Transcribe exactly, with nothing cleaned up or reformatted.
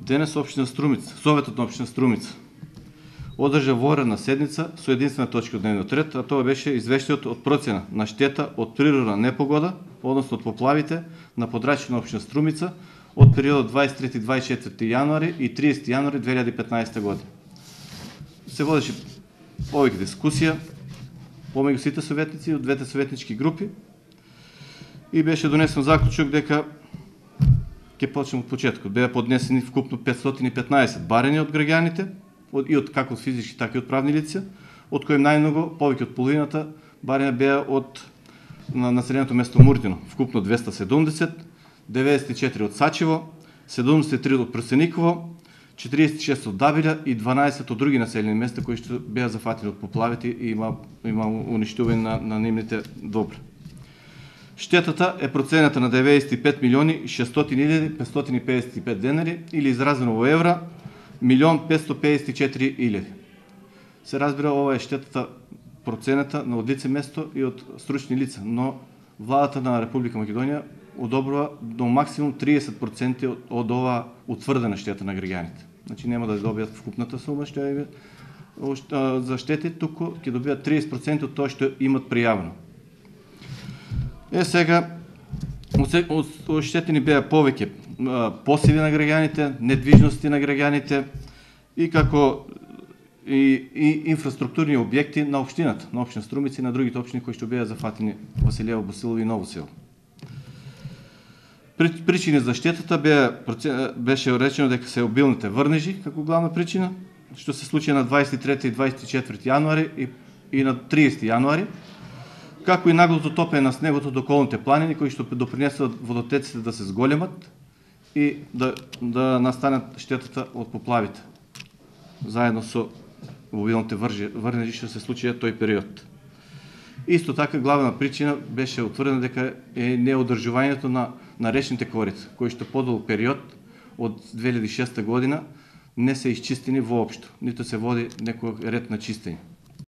Денес општина Струмица, Советот на општина Струмица одржа воредна седница со единствена точка од дневниот ред, а тоа беше извештајот од процена на штета од природна непогода, односно од поплавите на подрачјето на општина Струмица од периодот дваесет и трети до дваесет и четврти јануари и триесети јануари две илјади и петнаесета година. Се водеше повеќе дискусија помеѓу сите советници од двете советнички групи и беше донесен заклучок дека ќе почнеме од почетокот. Беа поднесени вкупно петстотини и петнаесет барања од граѓаните, и од како од физички, така и од правни лица, од кои најмногу, повеќе од половината барања беа од на населеното место Муртино, вкупно двеста седумдесет, деветдесет и четири од Сачево, седумдесет и три од Прсениково, четириесет и шест од Дабилја и дванаесет од други населени места кои што беа зафатени од поплавите и има има уништување на на нивните добри. Штетата е процената на деветдесет и пет милиони шестстотини илјади петстотини педесет и пет денари или изразено во евра милион петстотини педесет и четири илјади. Се разбира, ова е штетата процената на од лице место и од стручни лица, но владата на Република Македонија одобрува до максимум триесет проценти од, од ова утврдена штета на граѓаните. Значи нема да добијат вкупната сума што е за штети, туку ќе добијат триесет проценти од тоа што имат пријавено. Е сега оштетени беа повеќе посеви на граѓаните, недвижности на граѓаните и како и, и инфраструктурни објекти на општината, на општина Струмица и на другите општини кои што беа зафатени Василево, Босилово и Ново село. Причини за штетата беа, беше речено дека се обилните врнежи како главна причина, што се случи на дваесет и трети и дваесет и четврти јануари и, и на триесети јануари, како и наглото топење на снегото до околните планини кои што допринесуваат водотеците да се зголемат и да, да настанат штетата од поплавите, заедно со обилните врнежи што се случија тој период. Исто така главна причина беше утврдена дека е неодржувањето на на речните корица, кои што подолг период од две илјади и шеста година не се исчистени воопшто, ниту се води некој ред на чистење.